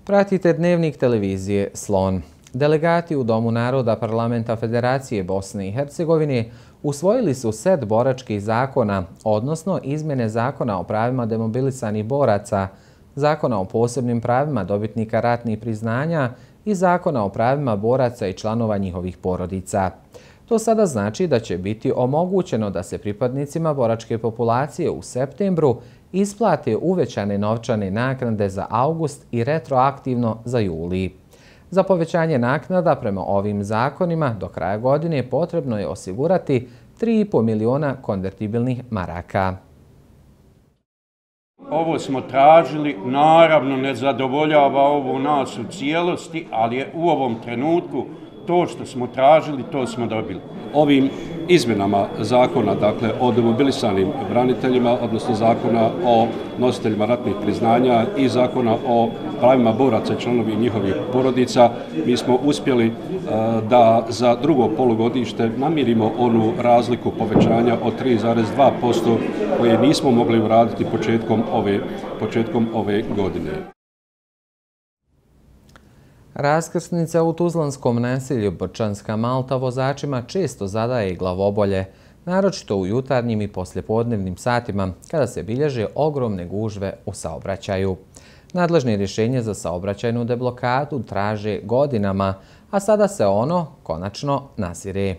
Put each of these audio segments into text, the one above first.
Pratite dnevnik televizije Slon. Delegati u Domu naroda Parlamenta Federacije Bosne i Hercegovine usvojili su set boračkih zakona, odnosno izmjene Zakona o pravima demobilisanih boraca, Zakona o posebnim pravima dobitnika ratnih priznanja i Zakona o pravima boraca i članova njihovih porodica. To sada znači da će biti omogućeno da se pripadnicima boračke populacije u septembru isplate uvećane novčane naknade za august i retroaktivno za juli. Za povećanje naknada prema ovim zakonima do kraja godine potrebno je osigurati 3,5 miliona konvertibilnih maraka. Ovo smo tražili, naravno ne zadovoljava ovo nas u cijelosti, ali je u ovom trenutku to što smo tražili, to smo dobili. Ovim izmjenama zakona, dakle o demobilisanim braniteljima, odnosno zakona o nositeljima ratnih priznanja i zakona o pravima boraca i članovi njihovih porodica, mi smo uspjeli da za drugo polugodište namirimo onu razliku povećanja od 3,2% koje nismo mogli uraditi početkom ove godine. Raskrsnica u tuzlanskom naselju Brčanska Malta vozačima često zadaje glavobolje, naročito u jutarnjim i poslijepodnevnim satima, kada se bilježe ogromne gužve u saobraćaju. Nadležne rješenje za saobraćajnu deblokadu traže godinama, a sada se ono konačno nasire.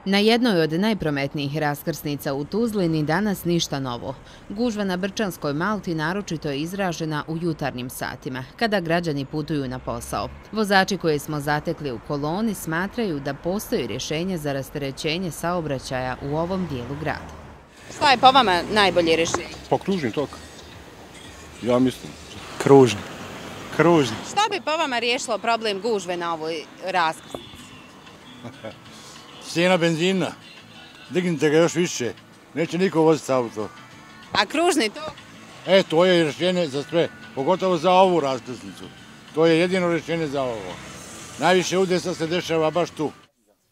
Na jednoj od najprometnijih raskrsnica u Tuzlini danas ništa novo. Gužva na Brčanskoj Malti naročito je izražena u jutarnjim satima, kada građani putuju na posao. Vozači koje smo zatekli u koloni smatraju da postoji rješenje za rasterećenje saobraćaja u ovom dijelu grada. Šta je po vama najbolje rješenje? Pa kružni tok. Ja mislim. Kružni. Šta bi po vama riješilo problem gužve na ovoj raskrsnici? Cijena benzina, dignite ga još više, neće niko voziti auto. A kružni tok? To je rješenje za sve, pogotovo za ovu raskrsnicu. To je jedino rješenje za ovo. Najviše udesa se dešava baš tu.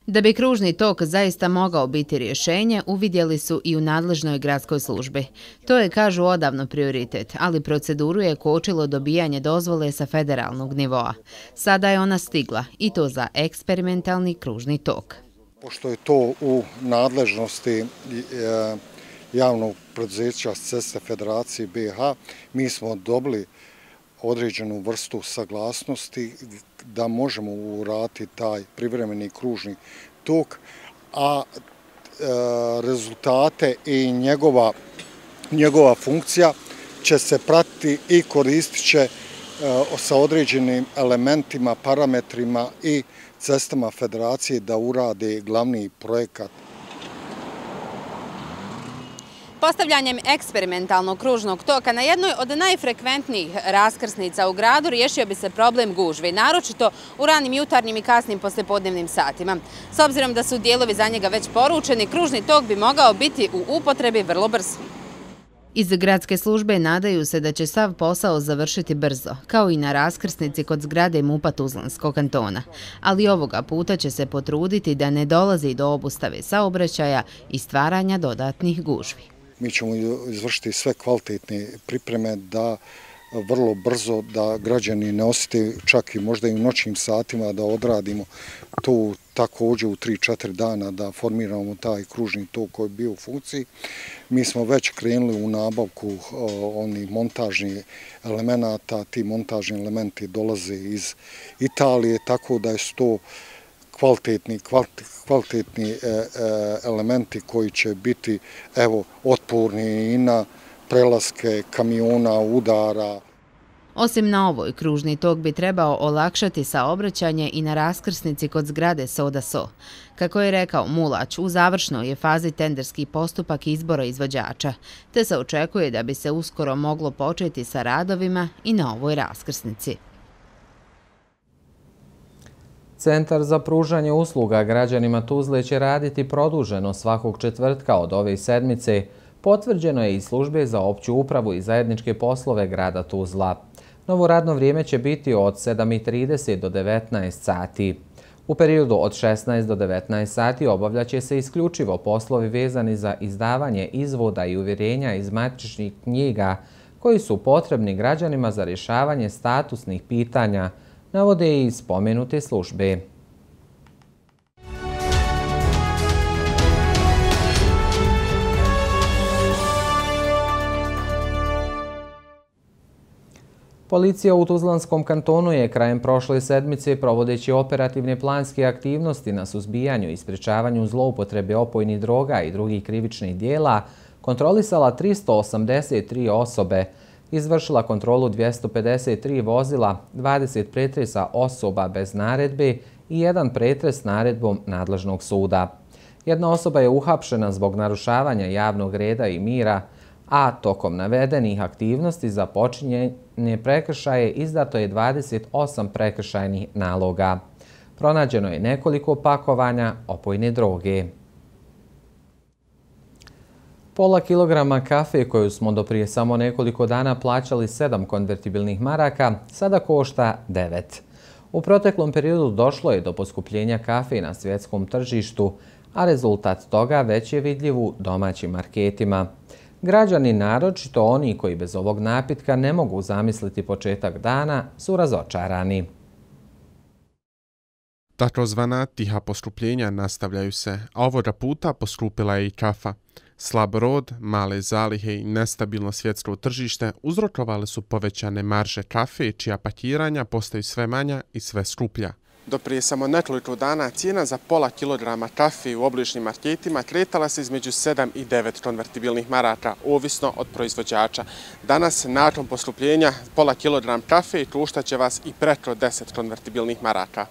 Da bi kružni tok zaista mogao biti rješenje, uvidjeli su i u nadležnoj gradskoj službi. To je, kažu, odavno prioritet, ali proceduru je kočilo dobijanje dozvole sa federalnog nivoa. Sada je ona stigla, i to za eksperimentalni kružni tok. Pošto je to u nadležnosti javnog preduzeća Ceste Federacije BiH, mi smo dobili određenu vrstu saglasnosti da možemo uraditi taj privremeni kružni tok, a rezultate i njegova funkcija će se pratiti i koristit će sa određenim elementima, parametrima i cestama Federacije da urade glavni projekat. Postavljanjem eksperimentalnog kružnog toka na jednoj od najfrekventnijih raskrsnica u gradu riješio bi se problem gužve, naročito u ranim jutarnjim i kasnim poslijepodnevnim satima. S obzirom da su dijelovi za njega već poručeni, kružni tok bi mogao biti u upotrebi vrlo brzo. Iz gradske službe nadaju se da će sav posao završiti brzo, kao i na raskrsnici kod zgrade MUP-a Tuzlanskog kantona. Ali ovoga puta će se potruditi da ne dolazi do obustave saobraćaja i stvaranja dodatnih gužvi. Mi ćemo izvršiti sve kvalitetne pripreme da vrlo brzo da građani ne osjete, čak i možda i u noćnim satima, da odradimo to također u 3-4 dana, da formiramo taj kružni tok koji je bio u funkciji. Mi smo već krenuli u nabavku onih montažnih elemenata, ti montažni elementi dolaze iz Italije, tako da su to kvalitetni elementi koji će biti otporni i na prelaske kamiona, udara. Osim na ovoj, kružni tok bi trebao olakšati saobraćanje i na raskrsnici kod zgrade Soda So. Kako je rekao Mulać, u završnoj je fazi tenderski postupak izbora izvođača, te se očekuje da bi se uskoro moglo početi sa radovima i na ovoj raskrsnici. Centar za pružanje usluga građanima Tuzle će raditi produženo svakog četvrtka od ove sedmice, potvrđeno je iz službe za opću upravu i zajedničke poslove grada Tuzla. Novo radno vrijeme će biti od 7:30 do 19 sati. U periodu od 16 do 19 sati obavljaće se isključivo poslovi vezani za izdavanje izvoda i uvjerenja iz matičnih knjiga koji su potrebni građanima za rješavanje statusnih pitanja, navode i spomenute službe. Policija u Tuzlanskom kantonu je krajem prošle sedmice, provodeći operativne planske aktivnosti na suzbijanju i sprječavanju zloupotrebe opojnih droga i drugih krivičnih dijela, kontrolisala 383 osobe, izvršila kontrolu 253 vozila, 20 pretresa osoba bez naredbe i jedan pretres naredbom nadležnog suda. Jedna osoba je uhapšena zbog narušavanja javnog reda i mira, a tokom navedenih aktivnosti za počinjenje prekršaje izdato je 28 prekršajnih naloga. Pronađeno je nekoliko pakovanja opojne droge. Pola kilograma kafe koju smo do prije samo nekoliko dana plaćali 7 konvertibilnih maraka, sada košta 9. U proteklom periodu došlo je do poskupljenja kafe na svjetskom tržištu, a rezultat toga već je vidljiv u domaćim marketima. Građani, naročito oni koji bez ovog napitka ne mogu zamisliti početak dana, su razočarani. Takozvana tiha poskupljenja nastavljaju se, a ovoga puta poskupila je i kafa. Slab rod, male zalihe i nestabilno svjetsko tržište uzrokovale su povećane marže kafe, čija pakiranja postaju sve manja i sve skuplja. Do prije samo nekoliko dana cijena za pola kilograma kafe u obližnjim marketima kretala se između 7 i 9 konvertibilnih maraka, ovisno od proizvođača. Danas, nakon poskupljenja, pola kilogram kafe koštaće vas i preko 10 konvertibilnih maraka.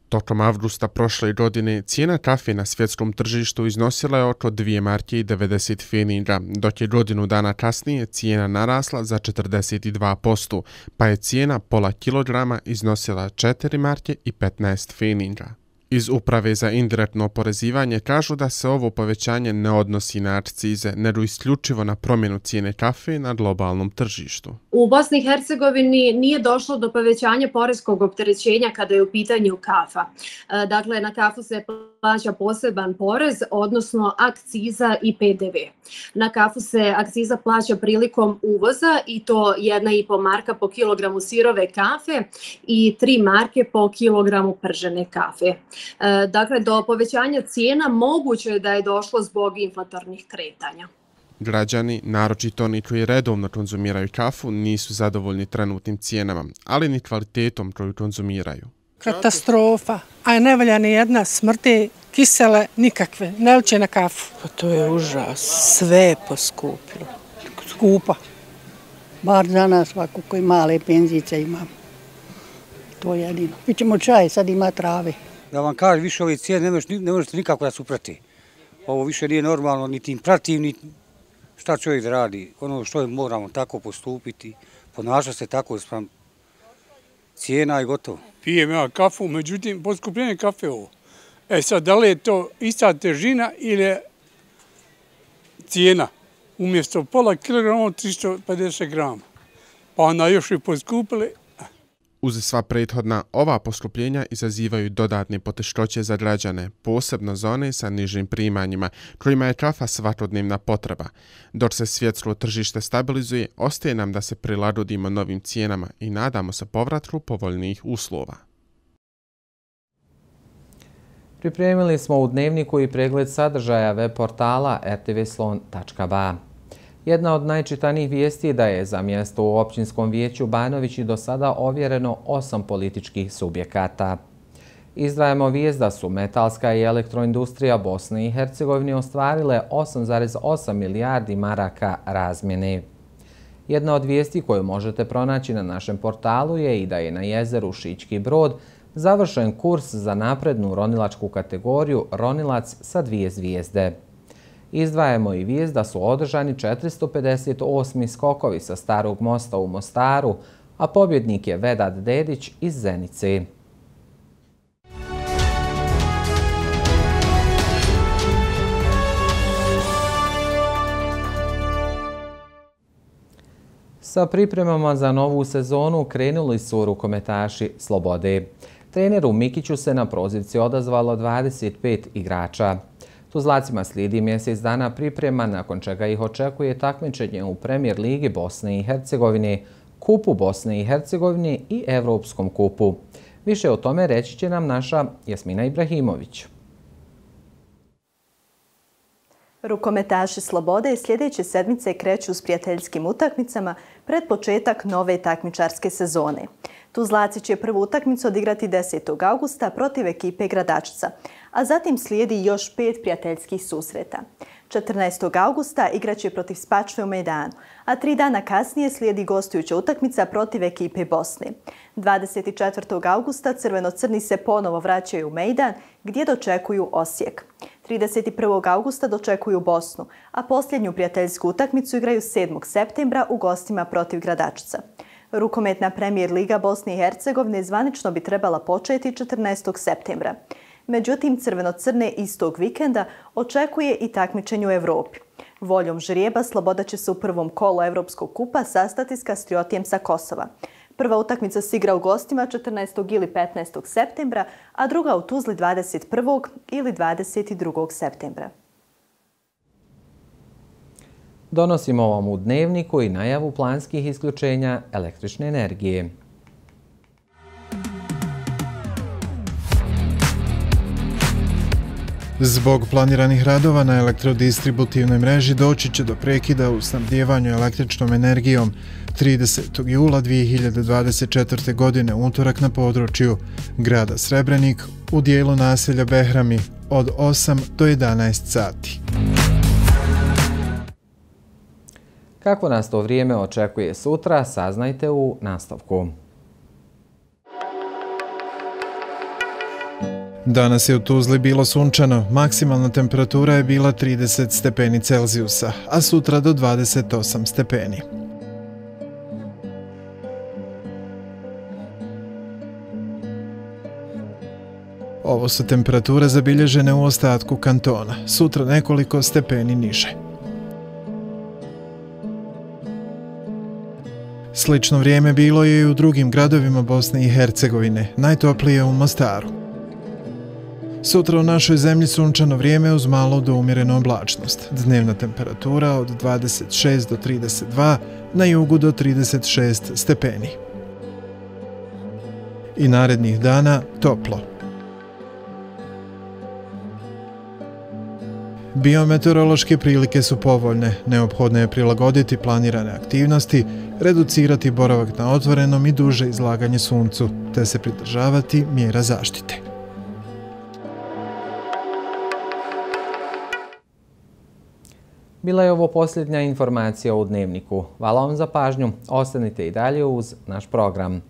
Tokom avgusta prošle godine cijena kafe na svjetskom tržištu iznosila je oko 2 marke i 90 pfeniga, dok je godinu dana kasnije cijena narasla za 42%, pa je cijena pola kilograma iznosila 4 marke i 15 pfeniga. Iz Uprave za indirektno oporezivanje kažu da se ovo povećanje ne odnosi na akcize, nego isključivo na promjenu cijene kafe na globalnom tržištu. U Bosni i Hercegovini nije došlo do povećanja poreskog opterećenja kada je u pitanju kafa. Dakle, na kafu se plaća poseban porez, odnosno akciza i PDV. Na kafu se akciza plaća prilikom uvoza i to 1,5 marka po kilogramu sirove kafe i 3 marke po kilogramu pržene kafe. Dakle, do povećanja cijena moguće je da je došlo zbog inflatornih kretanja. Građani, naročito oni koji redovno konzumiraju kafu, nisu zadovoljni trenutnim cijenama, ali ni kvalitetom koju konzumiraju. Katastrofa, a ne valja ni jedna, smrti, kisele, nikakve, ne liče na kafu. Pa to je užas, sve je poskupilo. Skupa. Bar za nas ovako koji male penzice imamo. To je jedino. Pićemo čaj, sad ima trave. Da vam kažem, više ove cijene ne možete nikako da se uprati. Ovo više nije normalno, niti im pratim, ni šta čovjek da radi. Ono što moramo tako postupiti, ponaša se tako sprem cijena i gotovo. Pijem ja kafu, međutim, poskupljenje kafe ovo. Sad, da li je to ista težina ili cijena? Umjesto pola kilograma 350 grama. Pa onda još i poskupili. Uz sva prethodna, ova poskupljenja izazivaju dodatne poteškoće za građane, posebno za one sa nižim primanjima, kojima je kafa svakodnevna potreba. Dok se svjetsko tržište stabilizuje, ostaje nam da se prilagodimo novim cijenama i nadamo se povratku povoljnijih uslova. Pripremili smo u dnevniku i pregled sadržaja web portala rtvslon.ba. Jedna od najčitanijih vijesti je da je za mjesto u općinskom vijeću Banovići do sada ovjereno 8 političkih subjekata. Izdvajamo vijest da su metalska i elektroindustrija Bosne i Hercegovine ostvarile 8,8 milijardi maraka razmjene. Jedna od vijesti koju možete pronaći na našem portalu je i da je na jezeru Šički Brod završen kurs za naprednu ronilačku kategoriju Ronilac sa 2 zvijezde. Izdvajamo i vijest da su održani 458. skokovi sa Starog mosta u Mostaru, a pobjednik je Vedat Dedić iz Zenice. Sa pripremama za novu sezonu krenuli su rukometaši Slobode. Treneru Mikiću se na prozivci odazvalo 25 igrača. Tuzlacima slijedi mjesec dana priprema, nakon čega ih očekuje takmičenje u Premier ligi Bosne i Hercegovine, Kupu Bosne i Hercegovine i Evropskom kupu. Više o tome reći će nam naša Jasmina Ibrahimović. Rukometaši Slobode sljedeće sedmice kreću s prijateljskim utakmicama pred početak nove takmičarske sezone. Tuzlaci će prvu utakmicu odigrati 10. augusta protiv ekipe Gradačca, a zatim slijedi još 5 prijateljskih susreta. 14. augusta igraće protiv Spačve u Mejdanu, a 3 dana kasnije slijedi gostujuća utakmica protiv ekipe Bosne. 24. augusta crveno-crni se ponovo vraćaju u Mejdan gdje dočekuju Osijek. 31. augusta dočekuju Bosnu, a posljednju prijateljsku utakmicu igraju 7. septembra u gostima protiv Gradačca. Rukometna Premier liga Bosne i Hercegovine zvanično bi trebala početi 14. septembra. Međutim, crveno-crne istog vikenda očekuje i takmičenje u Evropi. Voljom žrijeba Sloboda će se u prvom kolu Evropskog kupa sastati s Kastriotijem sa Kosova. Prva utakmica se igra u gostima 14. ili 15. septembra, a druga u Tuzli 21. ili 22. septembra. Donosimo vam u dnevniku i najavu planskih isključenja električne energije. Zbog planiranih radova na elektrodistributivnoj mreži doći će do prekida u snabdijevanju električnom energijom 30. jula 2024. godine utorak na području grada Srebrenik u dijelu naselja Behrami od 8 do 11 sati. Kako nas to vrijeme očekuje sutra, saznajte u nastavku. Danas je u Tuzli bilo sunčano, maksimalna temperatura je bila 30 stepeni Celzijusa, a sutra do 28 stepeni. Ovo su temperature zabilježene u ostatku kantona, sutra nekoliko stepeni niže. Slično vrijeme bilo je i u drugim gradovima Bosne i Hercegovine, najtoplije u Mostaru. Sutra u našoj zemlji sunčano vrijeme uz malo do umjerenu oblačnost. Dnevna temperatura od 26 do 32, na jugu do 36 stepeni. I narednih dana toplo. Biometeorološke prilike su povoljne, neophodno je prilagoditi planirane aktivnosti, reducirati boravak na otvorenom i duže izlaganje suncu, te se pridržavati mjera zaštite. Bila je ovo posljednja informacija u dnevniku. Hvala vam za pažnju. Ostanite i dalje uz naš program.